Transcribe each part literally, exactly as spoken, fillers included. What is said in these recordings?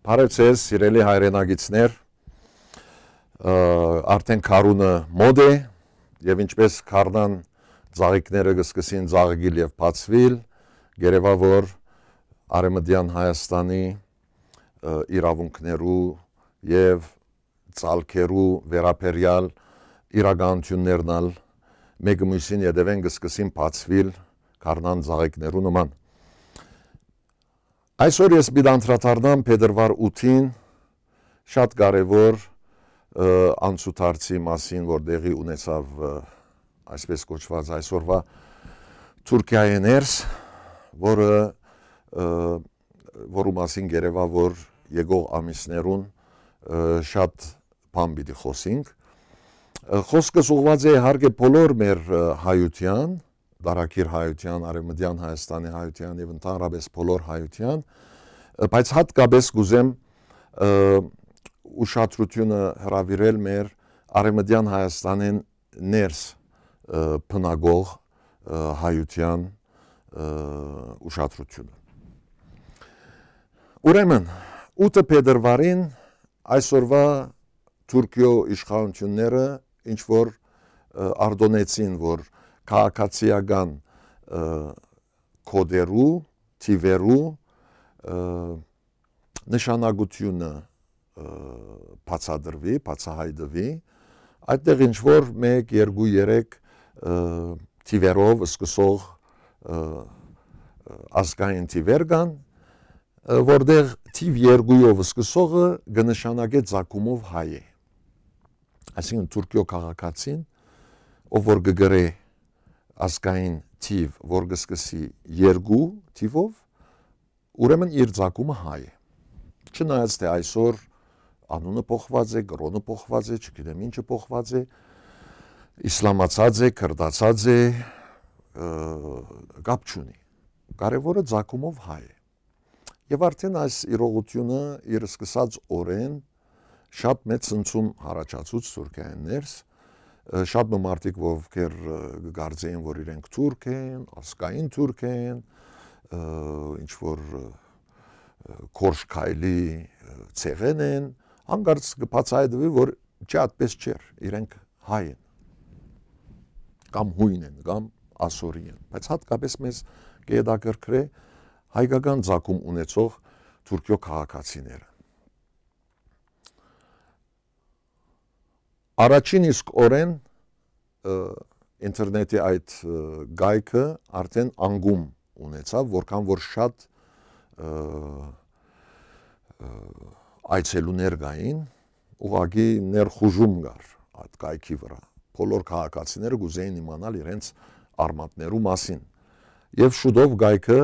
Բարեւ ձեզ, սիրելի հայրենակիցներ, ը, արդեն գարունը մօտ է, եւ ինչպէս գարնան ծաղիկները կը սկսին ծաղկիլ եւ բացուիլ, կ'երեւայ որ Արեւմտեան Հայաստանի, ը, իրաւունքներու եւ ծալքերու վերաբերեալ իրականութիւններն ալ մէկը միւսին ետեւէն կը սկսին բացուիլ գարնան ծաղիկներու նման։ Այսօր ես պիտի անդրադառնամ փետրուար ութին շատ կարեւոր, ը, անցուդարձի մասին, որ տեղի ունեցաւ, ը, այսպես կոչուած այսօրվա Թուրքիայի ներս, որը, ը, որու մասին կ'երեւայ որ եկող ամիսներուն, ը, շատ բան պիտի խօսինք։ Ը, խօսքս ուղղուած է իհարկե բոլոր մեր, ը, հայութեան, դարակիր հայութեան, արեւմտեան Հայաստանի հայութեան եւ ընդհանրապէս բոլոր հայութեան, ը, բայց հատկապէս կ'ուզեմ, ը, ուշադրութիւնը հրաւիրել մեր արեւմտեան Հայաստանին ներս, ը, բնակող, ը, հայութեան, ը, ուշադրութիւնը։ Ուրեմն, ութը փետրուարին այսօրվա Թուրքիոյ իշխանութիւնները ինչ որ, ը, արտոնեցին, որ քաղաքացիական, ը, կոդերու, թիվերու, ը, նշանակութիւնը, ը, բացատրուի, բացահայտուի, այդտեղ ինչ որ մէկ, երկու, երեք, ը, թիվերով սկսող, ը, ը, ազգային թիվեր կան, ը, որտեղ թիվ երկուով սկսողը կը նշանակէ ծագումով հայ է։ Այսինքն Թուրքիոյ քաղաքացին, ով որ կը գրէ ազգային թիվ, որ կը սկսի երկու թիվով, ուրեմն իր ծագումը հայ է։ Չնայած թէ այսօր անունը փոխուած է, կրօնը փոխուած է, չգիտեմ ինչը փոխուած է, իսլամացած է, քրդացած է, ը, կապ չունի։ Կարեւորը ծագումով հայ է։ Եւ արդեն այս իրողութիւնը իր սկսած օրէն շատ մեծ ցնցում յառաջացուց Թուրքիայէն ներս, ը, շատ մը մարդիկ, ովքեր, ը, կը կարծէին, որ իրենք թուրք են, ազգային թուրք են, ը, ինչ որ, ը, գորշ քայլի, ը, ցեղէն են, հանկարծ կը բացայայտուի, որ չէ, այդպես չէր, իրենք հայ են, կամ յոյն են, կամ ասորի են, բայց հատկապէս մեզ կը հետաքրքրէ հայկական ծագում ունեցող Թուրքիոյ քաղաքացիները։ Առաջին իսկ օրէն, ը, ինտերնետի այդ, ը, կայքը արդեն անկում ունեցաւ, որքան որ շատ, ը, ը, այցելուներ կային, ուղղակի ներխուժում կար այդ կայքի վրայ։ Բոլոր քաղաքացիները կ'ուզէին իմանալ իրենց արմատներու մասին։ Եւ շուտով կայքը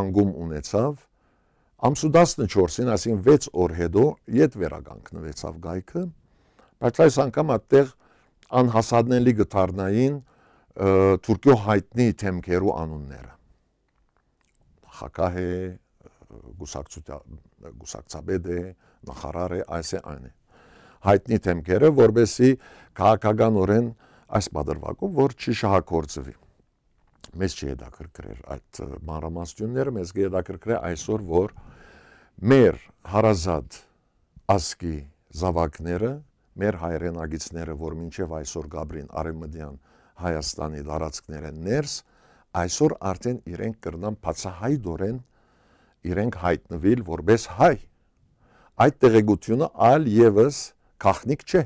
անկում ունեցաւ, ամսու տասնչորսին, այսինքն վեց օր յետոյ, յետ վերականգնուեցաւ կայքը, բայց այս անգամ այդտեղ անհասանելի կը դառնային, ը, Թուրքիոյ յայտնի դեմքերու անունները։ Նախագահ է, կուսակցութա-, կուսակցապետ է, նախարար է, այս է, այն է։ Յայտնի դեմքերը, որպեսզի քաղաքականօրէն այս պատրվակով, որ չի շահագործուի։ Մեզ չի հետաքրքրեր այդ, ը, մանրամասնությունները, մեզ կը հետաքրքրէ այսօր, որ մեր հարազատ ազգի զաւակները, մեր հայրենակիցները, որ մինչեւ այսօր կ'ապրին արեւմտեան Հայաստանի տարածքներէն ներս, այսօր արդեն իրենք կրնան բացահայտօրէն իրենք յայտնուիլ որպէս հայ։ Այդ տեղեկութիւնը այլ եւս գաղտնիք չէ։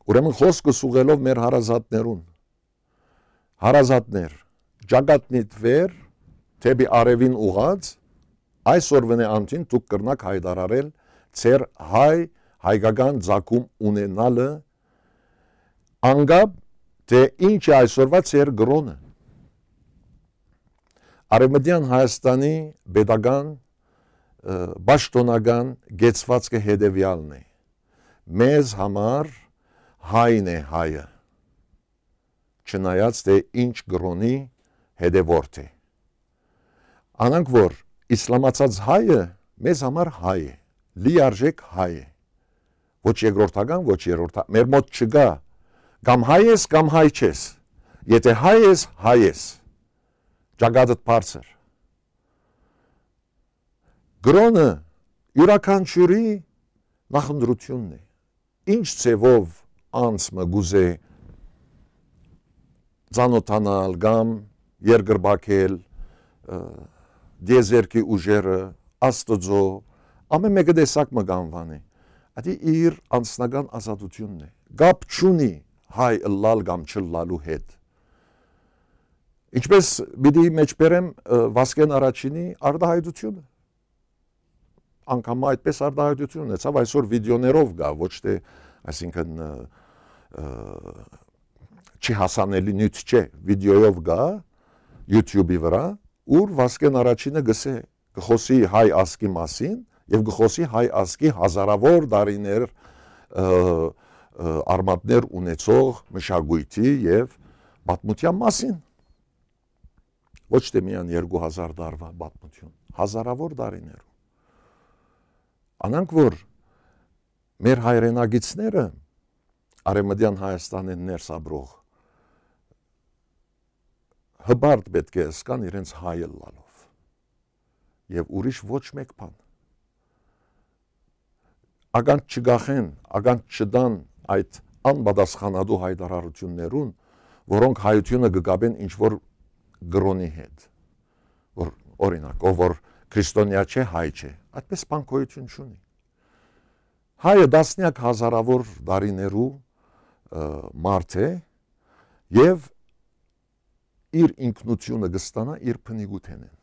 Ուրեմն խօսքս ուղղելով մեր հարազատներուն, հարազատներ, ճակատնիդ վեր, դէպի արեւին ուղղած, այսօրուընէ անդին դուք կրնաք յայտարարել ձեր հայ, հայկական ծագում ունենալը, անկապ թէ ինչ է այսօրվա ձեր կրօնը։ Արեւմտեան Հայաստանի պետական, ը, պաշտօնական կեցուածքը հետեւեալն է. մեզ համար հայն է հայը, չնայած թէ ինչ կրօնի հետեւորդ է։ Անանք որ իսլամացած հայը մեզ համար հայ է, լիարժեք հայ է։ Ոչ երկրորդական, ոչ երրորդական, մեր մոտ չկա, կամ հայ ես, կամ հայ չես։ Եթե հայ ես, հայ ես։ Ճակատդ բարձր։ Կրօնը յուրաքանչիւրի նախընտրութիւնն է։ Ինչ ձեւով անձ մը կ'ուզէ ծանօթանալ կամ երկրպագել, ը, տիեզերքի ուժերը, Աստուծոյ, ամէն մէկը տեսակ մը կ'անուանի։ Ատի իր անձնական ազատութիւնն է։ Կապ չունի հայ ըլլալ կամ չըլլալու հետ։ Ինչպէս պիտի մէջբերեմ, ը, Վասկէն Առաջինի արտահայտութիւնը։ Անգամ այդպէս արտահայտութիւն ունեցաւ, այսօր վիդեոներով կայ, ոչ թէ, այսինքն, ը, ը, չի հասանելի նիւթ չէ, վիդեոյով կայ, YouTube-ի վրայ, ուր Վասկէն Առաջինը կ'ըսէ, կը խօսի հայ ազգի մասին եւ կը խօսի հայ ազգի հազարաւոր տարիներ, ը, ը, արմատներ ունեցող մշակոյթի եւ պատմութեան մասին։ Ոչ թէ միայն երկու հազար տարուան պատմութիւն, հազարաւոր տարիներու։ Անանք որ մեր հայրենակիցները Արեւմտեան Հայաստանէն ներս ապրող հպարտ պէտք է ըսկան իրենց հայ ըլլալով։ Եւ ուրիշ ոչ մէկ բան։ Ականջ չկախեն, ականջ չտան այդ անպատասխանատու յայտարարութիւններուն, որոնք հայութիւնը կը կապեն ինչ-որ կրօնի հետ, որ, օրինակ, ով որ քրիստոնեայ չէ, հայ չէ, այդպէս բան գոյութիւն չունի։ Հայը տասնեակ հազարաւոր տարիներու, ը, մարդ է եւ իր ինքնութիւնը կը ստանայ իր բնիկութենէն։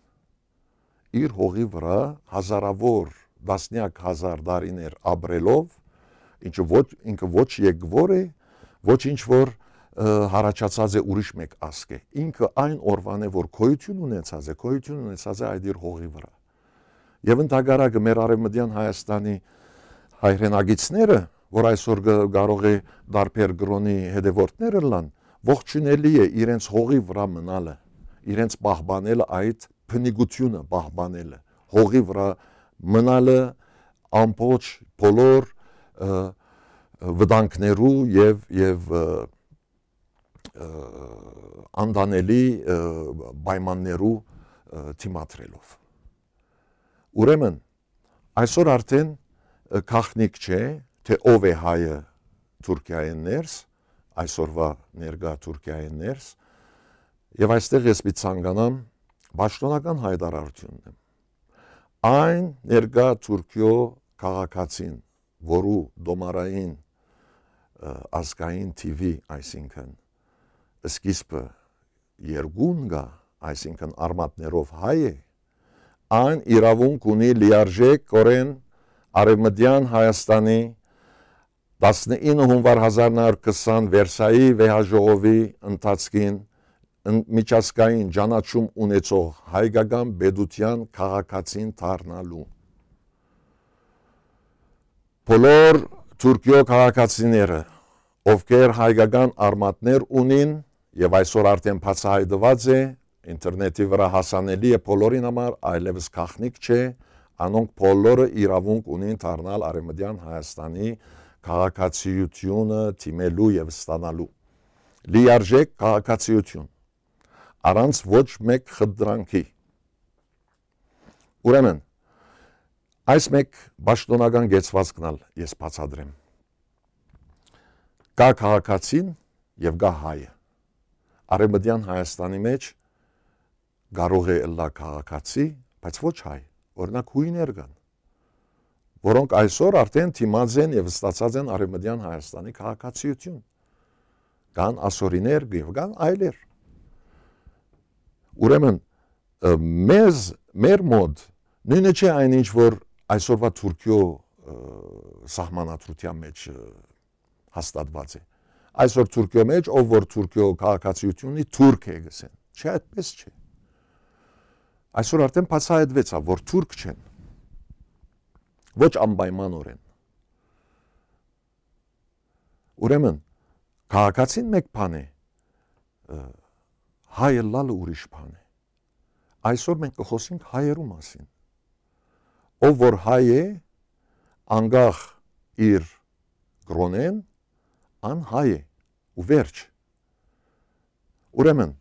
Իր հողի վրայ հազարաւոր, տասնեակ հազար տարիներ ապրելով, ինչը ոչ, ինքը ոչ եկվոր է, ոչ ինչ որ, ը, յառաջացած է ուրիշ մէկ ազգ է։ Ինքը այն օրուան է, որ գոյութիւն ունեցած է, գոյութիւն ունեցած է այդ իր հողի վրայ։ Եւ ընդհակառակը մեր Արեւմտեան Հայաստանի հայրենակիցները, որ այսօր կը, կարող է տարբեր կրօնի հետեւորդներ ըլլան, ողջունելի է իրենց հողի վրայ մնալը, իրենց պահպանելը, այդ բնիկութիւնը պահպանելը, հողի վրայ մնալը ամբողջ բոլոր, ը, վտանգներու եւ, եւ, ը, ը, անտանելի, ը, պայմաններու, ը, դիմադրելով։ Ուրեմն, այսօր արդեն, ը, գաղտնիք չէ, թէ ով է հայը Թուրքիայէն ներս, այսօրուա ներկայ Թուրքիայէն ներս, եւ այստեղ ես պիտի ցանկանամ պաշտօնական յայտարարութիւնն եմ։ Այն ներկայ Թուրքիոյ քաղաքացին, որու տոմարային, ը, ազգային թիւի, այսինքն, սկիզբը երկուն կայ, այսինքն, արմատներով հայ է, այն իրաւունք ունի լիարժէքօրէն Արեւմտեան Հայաստանի տասնինը հունուար հազար նոյ հարիւր քսան Վերսայի վեհաժողովի ընթացքին ն-, միջազգային ճանաչում ունեցող հայկական պետութեան քաղաքացին դառնալու։ Բոլոր Թուրքիոյ քաղաքացիները, ովքեր հայկական արմատներ ունին եւ այսօր արդեն բացահայտուած է, ինտերնետի վրայ հասանելի է բոլորին համար, այլեւս գաղտնիք չէ, անոնք բոլորը իրաւունք ունին դառնալ Արեւմտեան Հայաստանի քաղաքացիութիւնը դիմելու եւ ստանալու։ Լիարժէք քաղաքացիութիւն, առանց ոչ մէկ խնդրանքի։ Ուրեմն, այս մէկ պաշտօնական կեցուածքն ալ ես բացատրեմ։ Կայ քաղաքացին եւ կայ հայը։ Արեւմտեան Հայաստանի մէջ կարող է ըլլայ քաղաքացի, բայց ոչ հայ։ Օրինակ, յոյներ կան, որոնք այսօր արդեն դիմած են եւ ստացած են Արեւմտեան Հայաստանի քաղաքացիութիւն։ Կան ասորիներ եւ կան այլեր։ Ուրեմն, ը, մեզ, մեր մոտ նոյնը չէ այն ինչ որ այսօրվա Թուրքիոյ, ը, սահմանադրութեան մէջ, ը, հաստատուած է։ Այսօր Թուրքիոյ մէջ, ով որ Թուրքիոյ քաղաքացիութիւն ունի, թուրք է, կ'ըսեն։ Չէ, այդպէս չէ։ Այսօր արդեն բացահայտուեցաւ, որ թուրք չեն։ Ոչ անպայմանօրէն։ Ուրեմն, քաղաքացին մէկ բան է, ը, հայ ըլլալը ուրիշ բան է։ Այսօր մենք կը խօսենք հայերու մասին։ Ով որ հայ է, անկախ իր կրօնէն, ան հայ է, ու վերջ։ Ուրեմն,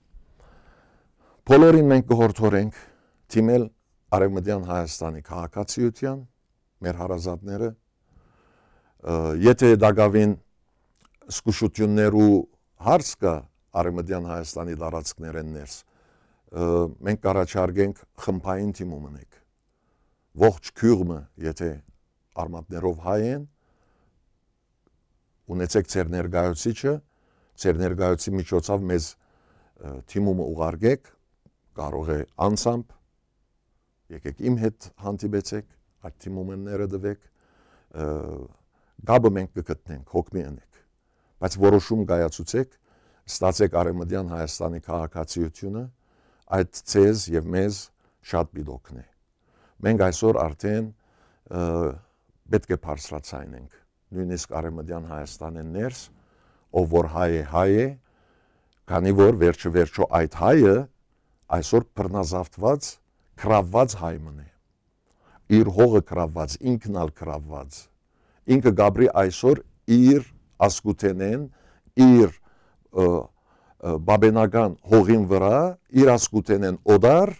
բոլորին մենք կը յորդորենք դիմել Արեւմտեան Հայաստանի քաղաքացիութեան, մեր հարազատները, ը, եթե տակաւին զգուշութիւններու հարց կայ Արեւմտեան Հայաստանի տարածքներէն ներս, ը, մենք կ'առաջարկենք խմբային դիմում ընենք։ Ողջ գիւղ մը, եթե արմատներով հայ են, ունեցեք ձեր ներկայացուցիչը, ձեր ներկայացուցի միջոցով մեզ, ը, դիմումը ուղարկեք, կարող է անձամբ, եկեք իմ հետ հանդիպեցեք, այդ դիմումները տուեք, ը, կապը մենք կը գտնենք, հոգ մի ընեք, բայց որոշում կայացուցեք, ստացեք Արեւմտեան Հայաստանի քաղաքացիութիւնը, այդ ձեզ եւ մեզ շատ պիտի օգնէ։ Մենք այսօր արդեն, ը, պէտք է բարձրաձայնենք, նոյնիսկ Արեւմտեան Հայաստանէն ներս, ով որ հայ է, հայ է, քանի որ վերջը վերջո այդ հայը այսօր բռնազավթուած, գրաւուած հայ մըն է։ Իր հողը գրաւուած, ինքն ալ գրաւուած։ Ինքը կ'ապրի այսօր իր ազգութենէն, իր, ը, ը, բաբենական հողին վրայ, իր ազգութենէն օտար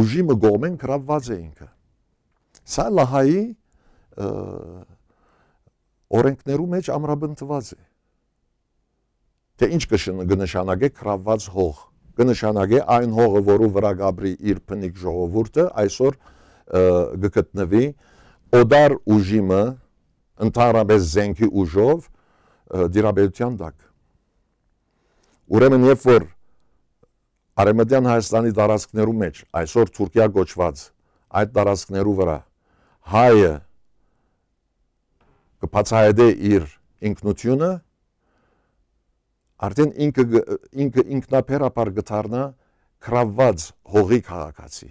ուժի մը կողմէն գրաւուած է ինքը։ Սա լահայի, ը, օրենքներու մէջ ամրապնդուած է։ Թէ ինչ կը շն-, կը նշանակէ գրաւուած հող։ Կը նշանակէ այն հողը, որու վրայ կ'ապրի իր բնիկ ժողովուրդը, այսօր, ը, կը գտնուի օտար ուժի մը, ընդհանրապես զենքի ուժով, ը, դիրապետութեան տակ։ Ուրեմն, երբ որ Արեւմտեան Հայաստանի տարածքներու մէջ, այսօր Թուրքիա կոչուած այդ տարածքներու վրայ հայը կը բացահայտէ իր ինքնութիւնը, արդեն ինքը գ-, ինքը ինքնաբերաբար կը դառնայ գրաւուած հողի քաղաքացի,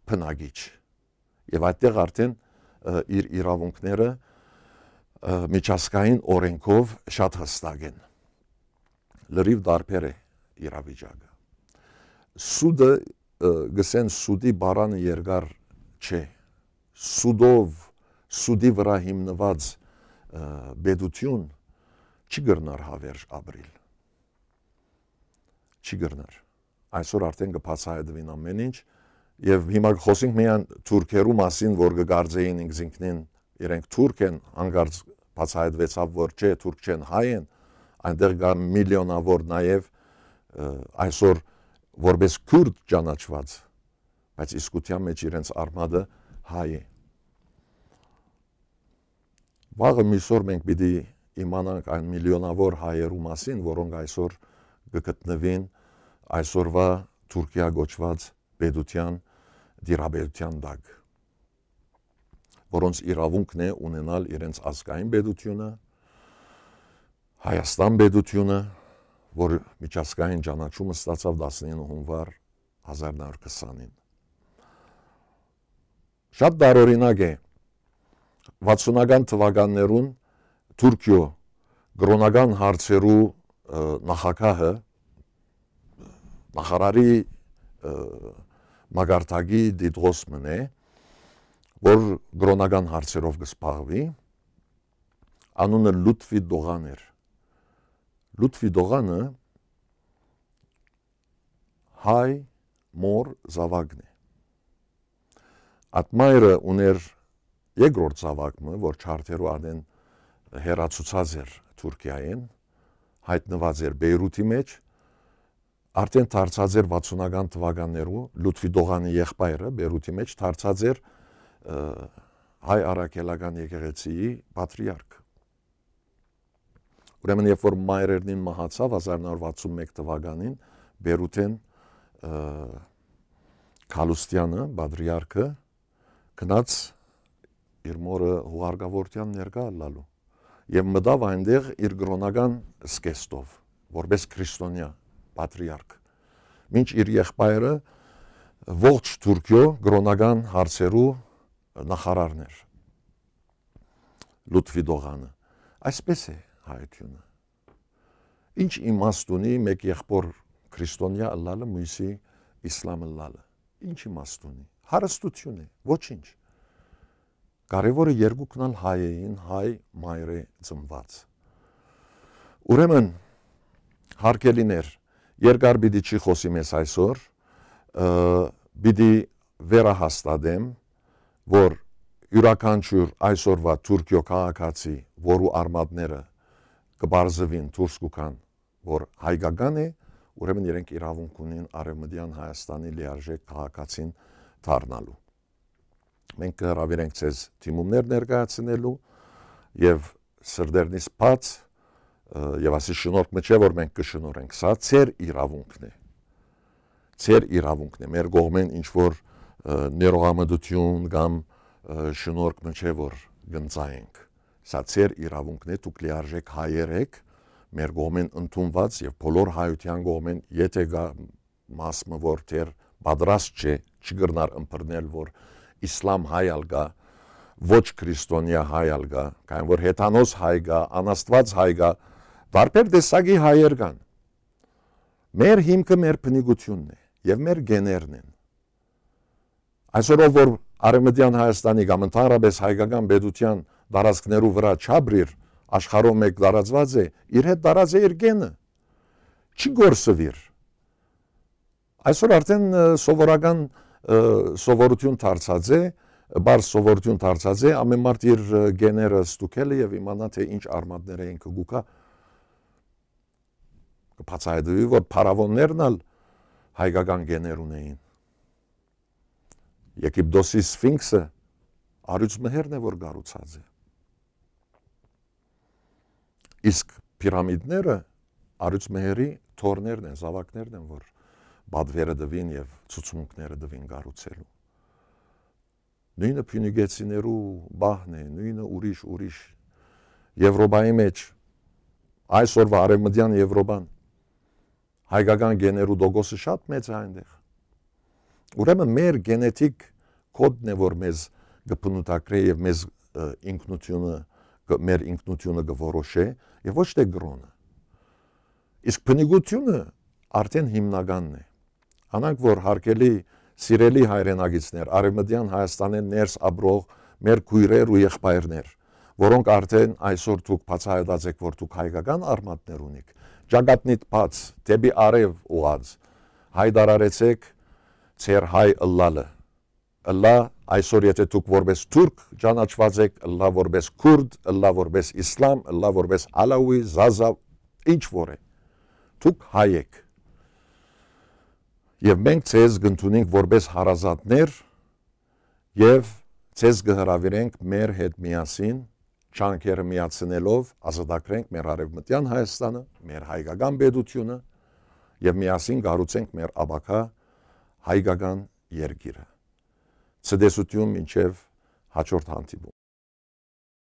բնակիչ։ Եւ այդտեղ արդեն, ը, իր իրաւունքները, ը, միջազգային օրենքով շատ յստակ են։ Լրիվ տարբեր է իրավիճակը։ Սուտը, ը, գսեն, սուտի բառանը երկար չէ։ Սուտով, սուտի վրայ հիմնուած, ը, պետութիւն չի կրնար հավերժ ապրիլ։ Չի կրնար։ Այսօր արդեն կը բացահայտուին ամէն ինչ, եւ հիմա կը խօսենք միայն թուրքերու մասին, որ կը կարծէին ինքզինքնին իրենք թուրք են, հանկարծ բացահայտուեցաւ, որ չէ, թուրք չեն, հայ են, այնտեղ կա միլիոնավոր նաեւ, ը, այսօր որպես քուրդ ճանաչուած, բայց իսկութեան մէջ իրենց արմատը հայ է։ Վաղը միսօր մենք պիտի իմանանք այն միլիոնավոր հայերու մասին, որոնք այսօր կը գտնուին այսօրվա Թուրքիա կոչուած պետութեան տիրապետութեան տակ, որոնց իրաւունքն է ունենալ իրենց ազգային պետութիւնը, Հայաստան պետութիւնը, որ միջազգային ճանաչում ստացաւ տասնինը հունուար հազար նոր քսանին։ Շատ տարօրինակ է, վաթսունական թուականներուն Թուրքիոյ կրօնական հարցերու, ը, նախագահը, նախարարի, ը, մակարդակի դիտողս մըն է, որ կրօնական հարցերով կը զբաղուի, անունը Լութվի Դողան էր։ Լութվի Դողանը հայ մոր զաւակն է։ Այդ մայրը ունէր երկրորդ զաւակ մը, որ ջարդերու ատեն հեռացուցած էր Թուրքիայէն, յայտնուած էր Բեյրութի մէջ, արդեն դարձած էր վաթսունական թուականներու, Լութվի Դողանի եղբայրը Բեյրութի մէջ դարձած էր, ը, հայ առաքելական եկեղեցիի պատրիարք։ Ուրեմն, երբ որ մայրերնին մահացաւ հազար նոր վաթսուն մէկ թուականին, Բեյրութէն, ը, Գալուստեանը, պատրիարքը, գնաց իր մօրը հուղարկավորութեան ներկայ ըլլալու եւ մտաւ այնտեղ իր կրօնական զգեստով, որպես քրիստոնեայ պատրիարք, մինչ իր եղբայրը ողջ Թուրքիոյ կրօնական հարցերու նախարարն էր, Լութվի Դողանը։ Այսպես է հայութիւնը։ Ինչ իմաստ ունի մէկ եղբոր քրիստոնեայ ըլլալը, մոյսի իսլամ ըլլալը։ Ինչ իմաստ ունի։ Հարստութիւն է, ոչինչ։ Կարեւորը երկուքն ալ հայ էին, հայ մայր է ծնված։ Ուրեմն, հարգելիներ, երկար պիտի չի խօսի մեզ այսօր, ը, պիտի վերահաստատեմ, որ յուրաքանչիւր այսօրուայ Թուրքիոյ քաղաքացի, որու արմատները կը պարզուին, դուրս կու գան, որ հայկական է, ուրեմն իրենք իրաւունք ունին Արեւմտեան Հայաստանի լիարժէք քաղաքացին դառնալու։ Մենք կը հրաւիրենք ձեզ դիմումներ ներկայացնելու եւ սրտերնից բաց, ը, եւ ասի շնորհք մը չէ, որ մենք կը շնորհենք, սա ձեր իրաւունքն է։ Ձեր իրաւունքն է, մեր կողմէն ինչ որ, ը, ներողամտություն կամ, ը, շնորհք մը չէ, որ կ'ընծայենք։ Սա ձեր իրաւունքն է, դուք լիարժէք հայեր էք, մեր կողմէն ընդունուած եւ բոլոր հայութեան կողմէն, եթե կայ մաս մը, որ դեռ պատրաստ չէ, չի կրնար ըմբռնել, որ իսլամ հայ ալ կայ, ոչ քրիստոնեայ հայ ալ կայ, քանի որ հեթանոս հայ կայ, անաստուած հայ կայ, տարբեր տեսակի հայեր կան։ Մեր հիմքը մեր բնիկությունն է եւ մեր գեներն են։ Այսօր ով որ Արեւմտեան Հայաստանի կամ ընդհանրապէս հայկական պետութեան տարածքներու վրայ չապրիր, աշխարհով մէկ տարածուած է, իր հետ տարած է իր գենը։ Չի կորսուիր։ Այսօր արդեն, ը, սովորական, ը, սովորութիւն դարձած է, պարզ սովորութիւն դարձած է, ամէն մարդ իր, ը, գեները ստուգելը եւ իմանայ, թէ ինչ արմատներ է ինքը կուքա։ Կը բացայայտուի, որ փարաւոններն ալ հայկական գեներ ունէին։ Եգիպտոսի Սֆինքսը արիւց մհերն է, որ կառուցած է։ Իսկ պիրամիդները արիւց մհերի թոռներն են, զաւակներն են, որ պատվերը տուին եւ ցուցմունքները տուին կառուցելու։ Նոյնը փիւնիկեցիներու պահն է, նոյնը ուրիշ, ուրիշ։ Եվրոպայի մէջ, այսօրվա արեւմտեան Եվրոպան, հայկական գեներու տոկոսը շատ մեծ է այնտեղ։ Ուրեմն մեր գենետիկ կոդն է, որ մեզ կը բնութագրէ եւ մեզ, ը, ինքնութիւնը, կը, մեր ինքնութիւնը կը որոշէ եւ ոչ թէ կրօնը։ Իսկ բնիկութիւնը արդեն հիմնականն է։ Անանք որ հարգելի, սիրելի հայրենակիցներ, Արեւմտեան Հայաստանէն ներս ապրող մեր քոյրեր ու եղբայրներ, որոնք արդեն այսօր դուք բացայայտած էք, որ դուք հայկական արմատներ ունիք, ճակատնիդ բաց, դէպի արեւ ուղղած, յայտարարեցէք ձեր հայ ըլլալը։ Ըլլայ, այսօր եթե դուք որպէս թուրք ճանաչուած էք, ըլլայ որպէս քուրդ, ըլլայ որպէս իսլամ, ըլլայ որպէս ալաուի, զազա, ինչ որ է, դուք հայ էք։ Եւ մենք ձեզ կ'ընդունենք որպէս հարազատներ եւ ձեզ կը հրաւիրենք մեր հետ միասին, ջանքերը միացնելով, ազատագրենք մեր Արեւմտեան Հայաստանը, մեր հայկական պետութիւնը եւ միասին կառուցենք մեր ապագայ հայկական երկիրը։ Ցտեսութիւն մինչեւ հաջորդ հանդիպում։